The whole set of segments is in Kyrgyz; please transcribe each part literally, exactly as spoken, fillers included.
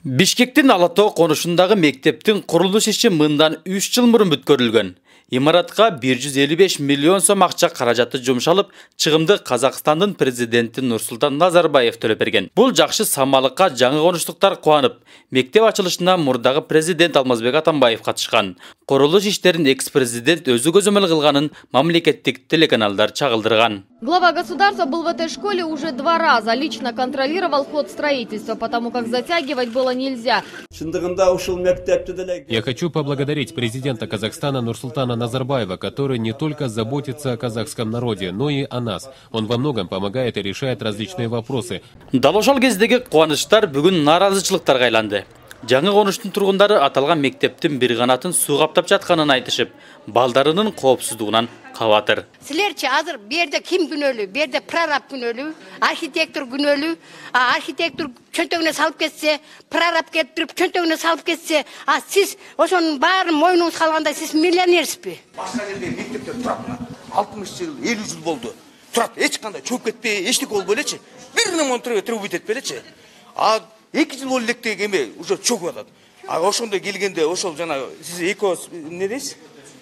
Бишкектин Ала Тоо конушундагы мектептин курулуш иши мындан үч жыл мурун бүткөрүлгөн. Имаратка бир жүз элүү беш миллион сом акча каражаты жумшалып, чыгымды Казакстандын президенти Нурсултан Назарбаев төлөп берген. Бул жакшы самалыкка жаңы конуштуктар кубанып, мектеп ачылышына мурдагы президент Алмазбек Атамбаев катышкан. Курулуш иштерин экс-президент өзү көзөмөл кылганын мамлекеттик телеканалдар чагылдырган. Глава государства был в этой школе уже два раза, лично контролировал ход строительства, потому как затягивать было нельзя. Я хочу поблагодарить президента Казахстана Нурсултана Назарбаева, который не только заботится о казахском народе, но и о нас. Он во многом помогает и решает различные вопросы. Дал ошол кездеги кубанычтар бүгүн нааразычылыктарга айланды. Жаңы конуштун тургундары аталган мектептин бир канатын суу каптап жатканын айтышып, балдарынын коопсуздугунан кабатыр. Силерчи азыр берде ким күнөөлүү? Берде прораб күнөөлүү, архитектор күнөөлүү. А архитектор чөнтөгүнө салып кетсе, прораб келип туруп чөнтөгүнө салып кетсе, а сиз ошонун баарын мойнуңуз калгандай сиз миллионерсизби? Башка жерде мектептер турат. алтымыш жыл, элүү жыл болду. Турат, эч кандай чөп кетпей, эчтеке болбой элечи. Бир ремонт трубу бүтөт элечи. А эки жыл болду элек деген эме уже чөгүп атат. А ошондой келгенде ошол жана сиз эко эмне дейсиз?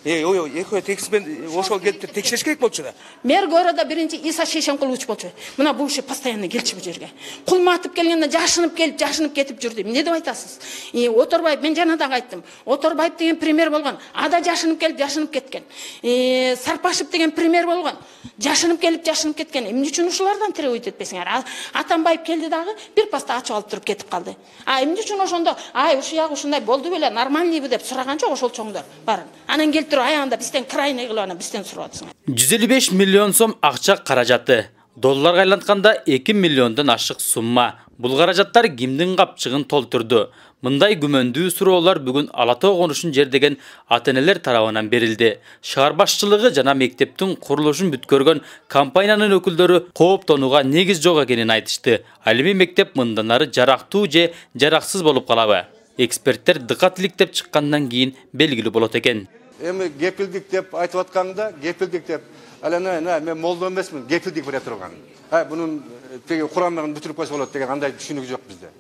Э, ой, эко текспен ошол келип текшериш керек болчу да. Мэр города биринчи Иса Шейшенкулович болчу. Мына бул иши постоянно келчү бу жерге. Кулматып келгенде жашынып келип, жашынып кетип жүрдү. Эмне деп айтасыз? И Оторбаев, мен жана дагы айттым. Оторбаев деген пример болгон. Ада жашынып келип, жашынып кеткен. Э, Сарпашев деген пример болгон. Жашынып келип, жашынып кеткен. Эмне үчүн ушулардан тиребейт этпесиңер? Атамбаев келди дагы бир паста ачып алып туруп кетип калды. А эмне үчүн ошондо, ай, ушу ягы ушундай болду беле, нормальныйбы деп сураган жок ошол чоңдор барын. Анан келип аягында бизден крайный кылып анан бизден сурап атсың. жүз элүү беш миллион сом акча каражаты. Долларга айлантканда эки миллиондон ашык сумма. Бул каражаттар кимдин капчыгын толтурду? Мындай күмөндүү суроолор бүгүн Ала Тоо конушун жердеген ата-энелер тарабынан берилди. Шаар башчылыгы жана мектептин курулушун бүткөргөн компаниянын өкүлдөрү кооптонууга негиз жок экенин айтышты. Ал эми мектеп мындан ары жарактуу же жараксыз болуп калабы? Эксперттер дыкаттылык деп чыккандан кийин белгилүү болот экен. Эми кепилдик деп айтып атканда, кепилдик деп, алана мен молдо эмесмин, кепилдик бере турган. Ha bunun теги Курандан бүтүрүп койсо болот деген андай түшүнүк жок бизде.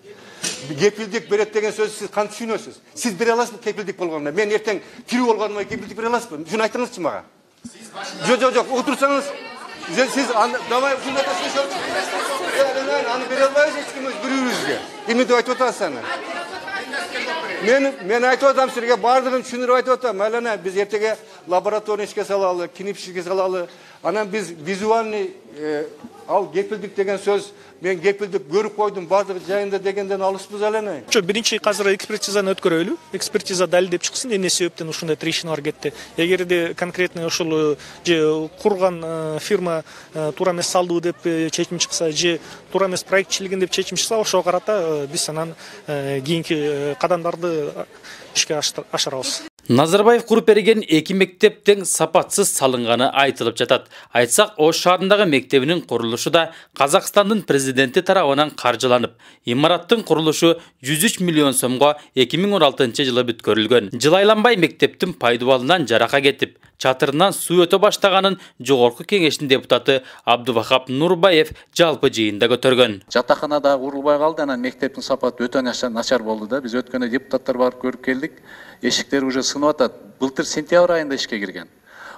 Кепилдик берет деген сөз сиз кантип түшүнөсүз? Сиз бере аласызбы кепилдик болгондо? Мен эртең тирүү болгондо кепилдик бере аласызбы? Шуну айтыңызчы мага. Жок, жок, жок, отурсаңыз, сиз давай ушундай сөз аны бере албайсыз эч ким өз бирөөбүзгө. Эмне деп айтып атасыз аны? Мен мен айтып атам силерге бардыгын түшүндүрүп айтып атам. Алана биз эртеге лаборатория ишке салалы, кинип ишке салалы. Анан биз визуальный ал кепилдик деген сөз мен кепилдик көрүп койдум бардыгы жайында дегенден алыспыз алана. Жок, биринчи азыр экспертизаны өткөрөлү. Экспертиза далилдеп чыксын, эмне себептен ушундай трещиналар кетти. Эгерде конкретный ошол же курган фирма туура эмес салдыбы деп чечим чыкса, же туура эмес проектчилигин деп чечим чыкса, ошого карата биз анан кийинки кадамдарды ишке ашырабыз. Назарбаев куруп берген эки мектептин сапатсыз салынганы айтылып жатат. Айтсак, Ош шаарындагы мектебинин курулушу да Казакстандын президенти тарабынан каржыланып, имараттын курулушу жүз үч миллион сомго эки миң он алтынчы жылы бүткөрүлгөн. Жыл айланбай мектептин пайдубалынан жарака кетип, чатырынан суу өтө баштаганын жогорку кеңештин депутаты Абдувахап Нурбаев жалпы жыйында көтөргөн. Жатакана да курулбай калды, анан мектептин сапаты өтө начар болду да. Биз өткөндө депутаттар барып көрүп келдик. Эшиктер уже сынып атат. Былтыр сентябрь айында ишке кирген.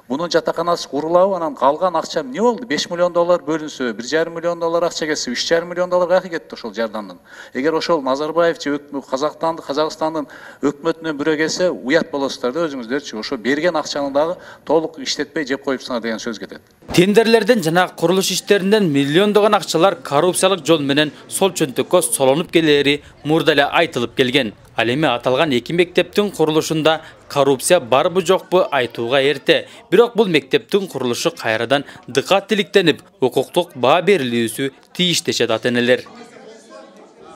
Бунун жатаканасы курулабы, анан калган акча эмне болду? беш миллион доллар бөлүнсө, бир жарым миллион доллар акча кетсе, үч жарым миллион доллар кайсы кетти ошол жардамдан? Эгер ошол Назарбаев же Казакстандын, Казакстандын өкмөтүнөн бирөө келсе, уят болосуздар да өзүңүздөрчү. Ошо берген акчаны дагы толук иштетпей жеп коюпсуңар деген сөз кетет. Тендерлерден жана курулуш иштеринен миллиондогон акчалар коррупциялык жол менен сол чөнтөккө солонуп келери мурда эле айтылып келген. Ал эми аталган эки мектептин курулушунда коррупция барбы жокпу айтууга эрте. Бирок бул мектептин курулушу кайрадан дыкаттыликтенип, укуктук баа берилүүсү тийиш дешет ата-энелер.